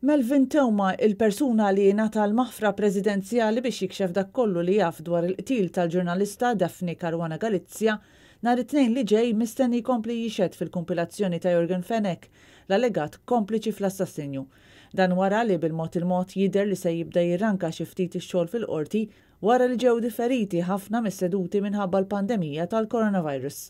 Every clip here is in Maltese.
Melvin Theuma, il-persuna li ngħata l-maħfra presidenzjali biex jikxef dak kollu li jaf dwar il-qtil tal-ġurnalista Daphne Caruana Galizia, nhar it-Tnejn li ġej mistenni jkompli jixhed fil-kumpilazzjoni ta' Yorgen Fenech, l-allegat kompliċi fl-assassinju. Dan wara li bil-mod il-mod jidher li se jibda jirranka xi ftit ix-xogħol fil-Qorti wara li ġew differiti ħafna mis-seduti minħabba l-pandemija tal-coronavirus.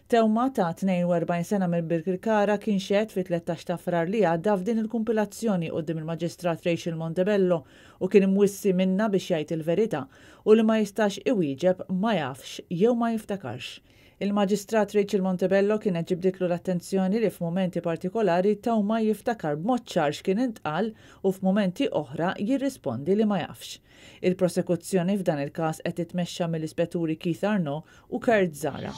Theuma ta' 42 sena minn Birkirkara kien xehed fit-13 ta' Frar li għadda f'din il-kumpilazzjoni quddiem il-Maġistrat Rachel Montebello u kien imwissi minnha biex jgħid il-verità u li ma jistax iwieġeb ma jafx jew ma jiftakarx. Il-Maġistrat Rachel Montebello kienet ġibditlu l-attenzjoni li f'mumenti partikolari Theuma jiftakar b'mod ċar x'kien intqal u f'mumenti oħra jirrispondi li ma jafx. Il-prosekuzzjoni f'dan il-każ qed titmexxa mill-Ispetturi Keith Arnaud u Kurt Zahra.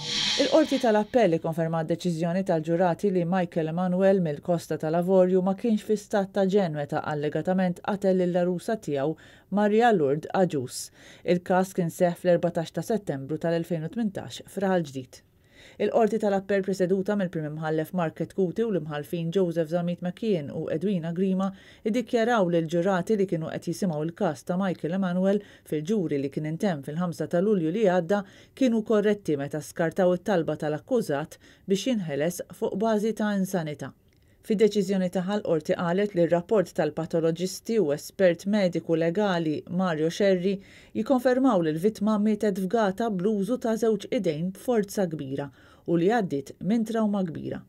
Il-Qorti tal-Appell ikkonfermat deċiżjoni tal-ġurati li Michael Emanuel mill-Kosta tal-Avorju ma kienx fi stat ta' ġenn meta allegatament qatel lill-għarusa tiegħu Maria Lourdes Agius. Il-każ kien seħħ fl-14 ta' Settembru tal-2018 f'Raħal Ġdid. Il-Qorti tal-Appell preseduta mill-Prim Imħallef Mark Chetcuti u l-Imħallfin Joseph Zammit McKeon u Edwina Grima iddikjaraw li l-ġurati li kienu qed jisimgħu l-każ ta' Michael Emanuel fil-ġuri li kien intemm fil-5 ta' Lulju li għadda kienu korretti meta skartaw it-talba tal-akkużat biex jinħeles fuq bażi ta' insanità. Fid-deċiżjoni tagħha l-Qorti qalet li r-rapport tal-patoloġisti u espert mediku legali Mario Scerri jikkonfermaw li l-vittma mietet fgata bl-użu ta' żewġ idejn b'forza kbira u li għaddiet minn trawma kbira.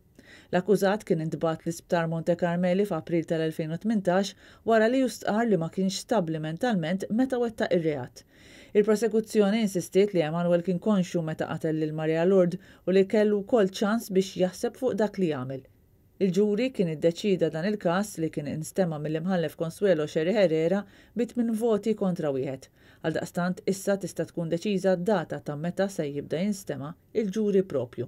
L-akkużat kien intbagħat l-Isptar Monte Carmeli f'April tal-2018 wara li hu stqarr li ma kienx stabbli mentalment meta wettaq ir-reat. Il-prosekuzzjoni insistiet li Emanuel kien konxju meta qatel lil Maria Lourdes u li kellu wkoll ċans biex jaħseb fuq dak li għamel. Il-ġuri kien iddeċieda dan il-każ li kien instema' mill-Imħallef Consuelo Scerri Herrera bi tmien voti kontra wieħed. Għaldaqstant issa tista' tkun deċiża d-data ta' meta se jibda jinstema' il-ġuri proprju.